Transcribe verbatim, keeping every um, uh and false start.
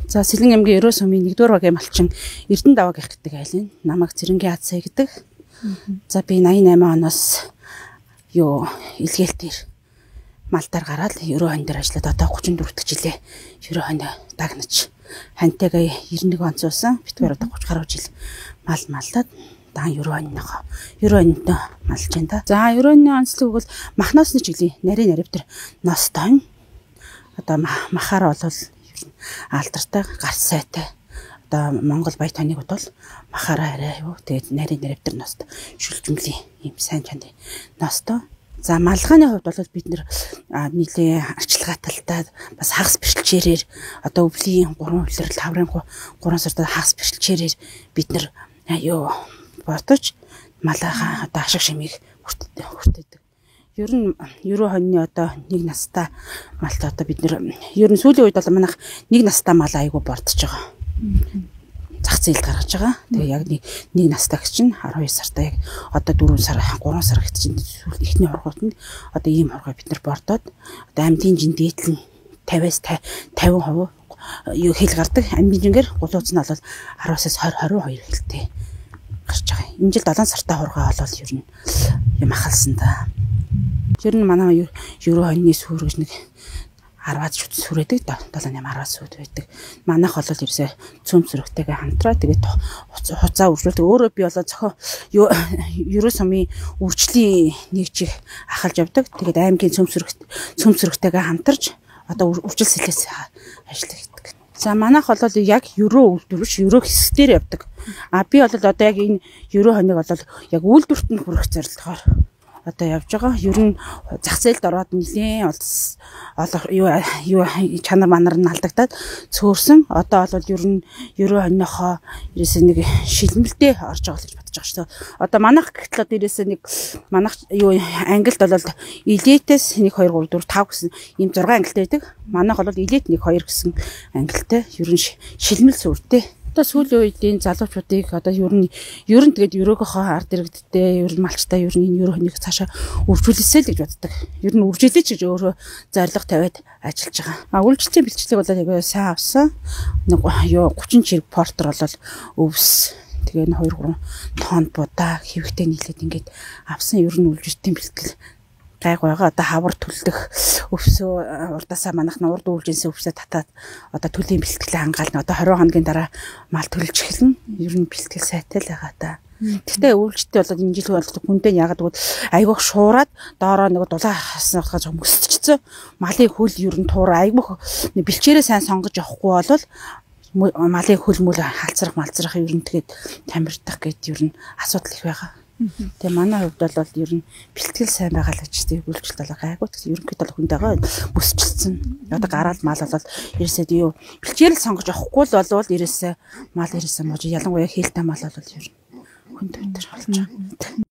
За Сэлэн аймгийн Ерөө сумын нэгдүгээр багийн малчин Эрдэнэ даваа гэх гэдэг айл нь. Намайг Цэрэнгийн Ад сая гэдэг. За би восемьдесят восемь оноос юу илгээлтээр малдаар гараад Ерөө хань дээр ажиллаад одоо тридцать четыре дахь жилээ Ерөө хань дагнаж хантайгаа ninety one онцсон. Битгээр одоо thirty гаруй жил мал малдаад даан Ерөө ханьнаа Ерөө ханьтай малж байна да. За Ерөө ханьны онцлог бол махнаас нь жилийн нарийн нарив дээр ностой. Одоо махаар бол алдартай гарц сайтай. Одоо Монгол баяр тоныг бол махаараа арай юу тэгээд нарийн нарив дээр ност шүлжмлийн юм сайн чанарын ностой. За малгайны хувьд бол бид нэр нийлээ арчилгаа талтай бас хагас бэрхшээлээр одоо өвлийн гурван үлрэл хаврын гурван сард хагас бэрхшээлээр бид нэр юу бодож малайхаа одоо ашиг шимийг хүртээдэг. Ер нь Ерөө хоньны одоо нэг настай малт одоо бид нэр ер нь сүүлийн үед бол манайх нэг настай мал айгу бордож байгаа. Зах зээлд гаргаж байгаа. Тэгээ яг нэг нэг настай гэж чинь twelve сартай яг одоо four сар three сар гэж чинь сүүл ихний хоргоотнд одоо ийм хоргоо бид нар бордоод одоо амьдын жин дээдлэн fifty-аас fifty percent юу хэл гардаг. Амьдын жингээр гулууц нь бол ten-аас twenty twenty-two хэлтэй гарч байгаа. Энэ жил seven сартай хоргоо бол ер нь юм ахалсан да. Ер нь манай Ерөө хоньны сүр гэж нэг ten шүт сүрээдэг да. seven ten сүд байдаг. Манайх бол ерөөсөө цөм сүрэгтэйгээ хамтраа тэгээд хуцаа үржүүлдэг. Өөрөө би болоо зохио Ерөө сумын үржлийн нэг жиг ахалж явдаг. Тэгээд аймгийн цөм сүрэгт цөм сүрэгтэйгээ хамтарч одоо үржил сэлээс ажилладаг. За манайх бол яг Ерөө үйлдвэрч Ерөө хэсгээр явдаг. А би бол одоо яг энэ Ерөө хоньыг бол яг үйлдвэрт нь хүрэх зорилгоор одоо явж байгаа. Ер нь зах зээлд ороод нэлээд юу юу чанар манар нь алдагдаад цөөрсөн. Одоо бол ер нь Ерөө хоньнохоо ерөөсөө нэг шилмэлдээ орж байгаа гэж бодож байгаа шүү. Одоо манайх гэтэл одоо ерөөсөө нэг манайх юу англид бол элитээс one two three four five гэсэн ийм six англитай байдаг. Манайх бол элит one two гэсэн англитай. Ер нь шилмэл сүртэй. Одоо сүүлийн үеийн залуучуудыг одоо ер нь ер нь тэгээд Ерөөгийнхөө ард иргэдтэй ер нь малчтай ер нь энэ Ерөө хоньыг цаашаа үржүүлээсэй л гэж боддог. Ер нь үржүүлээч гэж өөрөө зорилго тавиад ажиллаж байгаа. А үйлчлэлийн бэлтгэлийг бол яг сайн авсан. Нэг юу thirty чирэг портер бол өвс тэгээ two three тонн будаа хэвхтэй нийлээд ингээд авсан ер нь үйлчлэлийн бэлтгэл гайг байгаа. Одоо хавар төлдөх өвсөө урдаасаа манайх нь урд үйлжинсэн өвсөө татаад одоо төлийн бэлтгэл хангаална. Одоо twenty хоногийн дараа мал төлж эхэлнэ. Ер нь бэлтгэл сайтай л байгаа та. Гэхдээ үйлчлэлтэй болоод энэ жил бол хүндээ ягаад гэвэл айгүйх шуураад доороо нэг дулаан хаснахаж мөсчихсөн. Малын хөл ер нь туур айгүйх бэлчээрээ сайн сонгож явахгүй бол малын хөл мүл халцрах малцрах ер нь тэгээд тамирдах гэд ер нь асуудал их байгаа. Тэгээ манай хувьд бол ер нь бэлтгэл сайн байгаа л гэж тийм үйлчлэл бол гайгүй. Тэгсэн ерөнхийдөө хүнтэйгээ бүсчилсэн. Одоо гараад мал бол ерөөсөө юу бэлчээрэл сонгож авахгүй л болвол ерөөсөө мал ерөөсөө мож ялангуяа хээлтэй мал бол ер нь хүнд өтер болж байгаа.